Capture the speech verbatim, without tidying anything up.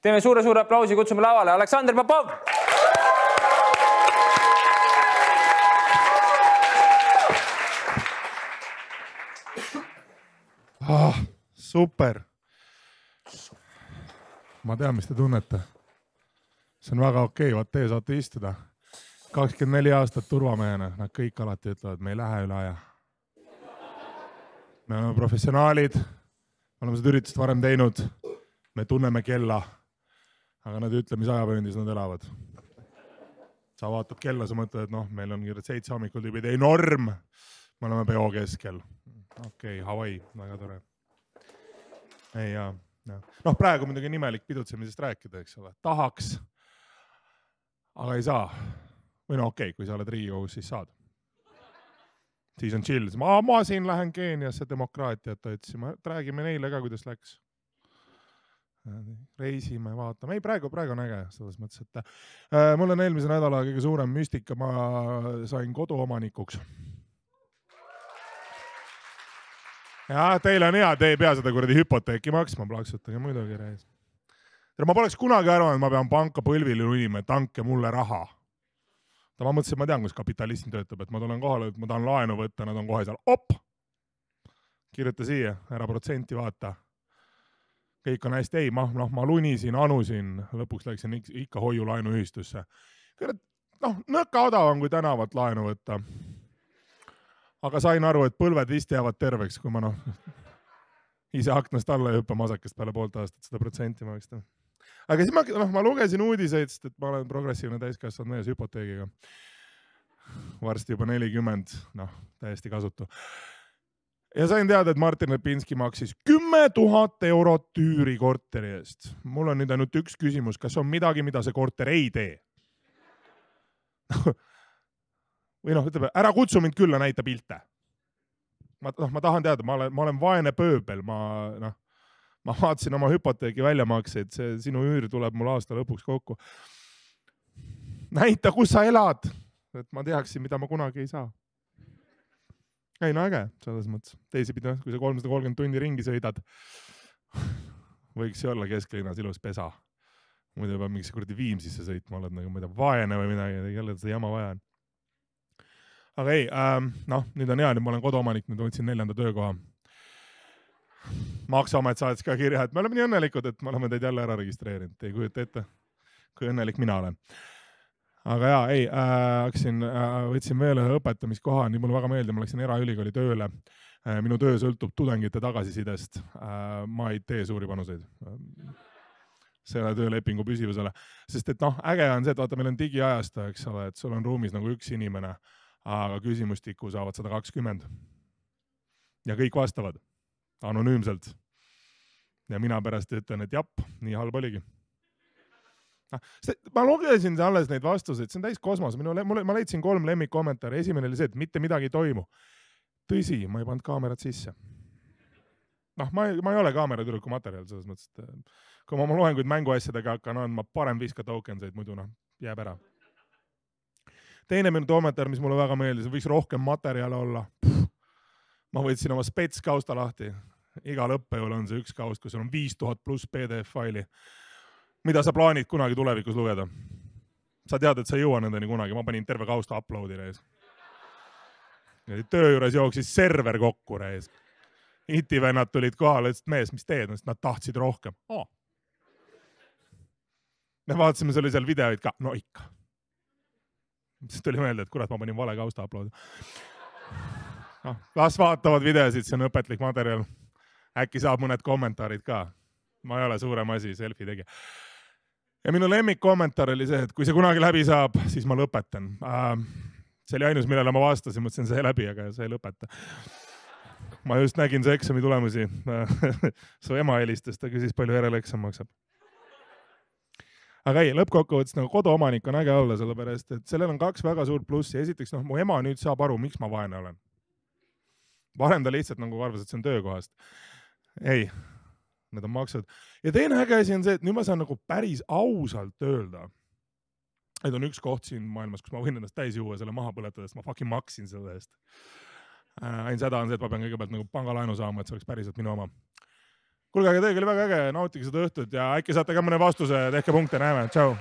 Teeme suure-suure aplausi, kutsume lavale Aleksandr Popov! Ah, super. Ma tean, mis te tunnete. See on väga okei, vaat teie saate istuda. kakskümmend neli aastat turvamehena, nad kõik alati ütlevad, me ei lähe üle aja. Me oleme professionaalid, me oleme seda üritust varem teinud, me tunneme kella, aga nad ütle, mis ajapööndis nad elavad. Sa vaatad kella, sa mõtled, et noh, meil on seitse hommikul tüübid, ei norm, me oleme peo keskel. Okei, Hawaii, väga tore. Ei, jaa. Noh, praegu muidugi nimelik pidutsemisest rääkida, eks ole. Tahaks, aga ei saa. Või no okei, kui sa oled Riigikogus, siis saad. Siis on chill. Ma, ma siin lähen Keeniasse demokraatiat otsima. Räägime neile ka, kuidas läks. Reisime, vaatame. Ei, praegu, praegu on äge. Selles mõttes, et äh, mul on eelmise nädala kõige suurem müstika. Ma sain koduomanikuks. Ja, teil on hea, te ei pea seda kuradi hüpoteeki maksma, plaksutage muidugi reis. Ma poleks kunagi arvanud, et ma pean panka põlvili unima, et tanke mulle raha. Ta ma mõtlesin, et ma tean, kus kapitalism töötab, et ma tulen kohale, et ma tahan laenu võtta, nad on kohe seal, op! Kirjuta siia, ära protsenti vaata. Kõik on hästi, ei, ma, no, ma lunisin, anusin, lõpuks läksin ikka hoiu laenu ühistusse. Noh, nõka odavam, kui tänavat laenu võtta. Aga sain aru, et põlved vist jäävad terveks, kui ma noh, ise aknast alla ja hüppa masakest peale poolt aastat seda protsenti maksta. Aga siis ma, noh, ma lugesin uudiseid, et ma olen progressiivne täiskasvanud mees hüpoteegiga. Varsti juba nelikümmend, noh, täiesti kasutu. Ja sain teada, et Martin Lepinski maksis kümme tuhat eurot tüüri korteri eest. Mul on nüüd ainult üks küsimus, kas on midagi, mida see korter ei tee? Või noh, ütleme, ära kutsu mind külla, näita pilte. Ma, noh, ma tahan teada, ma olen, ma olen vaene pööbel, ma, noh, ma vaatasin oma hüpoteegi väljamakseid, see sinu üür tuleb mul aasta lõpuks kokku. Näita, kus sa elad, et ma teaksin, mida ma kunagi ei saa. Ei, no äge, selles mõttes. Teisipidi, kui sa kolmsada kolmkümmend tundi ringi sõidad, võiks olla kesklinnas ilus pesa. Muidu peab mingisse kurdi Viimsisse sõitma, oled nagu mida vaene või midagi, jälle seda jama vaja on. Aga ei, ähm, noh, nüüd on hea, nüüd ma olen koduomanik, nüüd võtsin neljanda töökoha. Maksuamet saatis ka kirja, et me oleme nii õnnelikud, et me oleme teid jälle ära registreerinud. Ei kujuta ette, kui õnnelik mina olen. Aga jaa, ei, äh, haksin, äh, võtsin veel ühe õpetamiskoha, nii mulle väga meeldib, ma läksin eraülikooli tööle. Äh, minu töö sõltub tudengite tagasisidest. Äh, ma ei tee suuri panuseid. Selle töölepingu püsivusele. Sest et noh, äge on see, et vaata, meil on digiajasta, eks ole, et sul on ruumis nagu üks inimene, aga küsimustiku saavad sada kakskümmend. Ja kõik vastavad anonüümselt. Ja mina pärast ütlen, et jap, nii halb oligi. Ma lugesin alles neid vastuseid, see on täis kosmos. Minu, ma leidsin kolm lemmikkommentaari. Esimene oli see, et mitte midagi ei toimu. Tõsi, ma ei pannud kaamerat sisse. Noh, ma ei, ma ei ole kaameratüruku materjal selles mõttes, et kui ma oma loenguid mänguasjadega hakkan andma, parem viska tokenseid, muidu noh, jääb ära. Teine minu kommentaar, mis mulle väga meeldis, võiks rohkem materjale olla. Puh. Ma võtsin oma spetskausta lahti. Igal õppejõul on see üks kaust, kus on viis tuhat pluss P D F faili. Mida sa plaanid kunagi tulevikus lugeda? Sa tead, et sa ei jõua nendeni kunagi. Ma panin terve kausta uploadi reis. Töö juures jooksis server kokku reis. Iti-vennad tulid kohale, ütlesid, mees, mis teed? Nad tahtsid rohkem. Oh. Me vaatasime, see oli seal videoid ka. No ikka. Siis tuli meelde, et kurat, ma panin vale kausta uploadi. No, las vaatavad videosid, see on õpetlik materjal. Äkki saab mõned kommentaarid ka. Ma ei ole suurem asi, selfie tegi. Ja minu lemmik kommentaar oli see, et kui see kunagi läbi saab, siis ma lõpetan. See oli ainus, millele ma vastasin, mõtlesin see läbi, aga see ei lõpeta. Ma just nägin see eksami tulemusi. Su ema helistas, ta küsis, palju järele eksam maksab. Aga ei, lõppkokkuvõttes nagu koduomanik on äge olla, sellepärast, et sellel on kaks väga suurt plussi. Esiteks, noh, mu ema nüüd saab aru, miks ma vaene olen. Varem ta lihtsalt nagu arvas, et see on töökohast. Ei, need on maksud. Ja teine äge asi on see, et nüüd ma saan nagu päris ausalt öelda. Et on üks koht siin maailmas, kus ma võin ennast täis juua selle maha põletades, ma fucking maksin selle eest. Ainus häda on see, et ma pean kõigepealt nagu pangalaenu saama, et see oleks päriselt minu oma. kuulge, aga teiega oli väga äge, nautige seda õhtut ja äkki saate ka mõne vastuse, tehke punkte, näeme, tšau.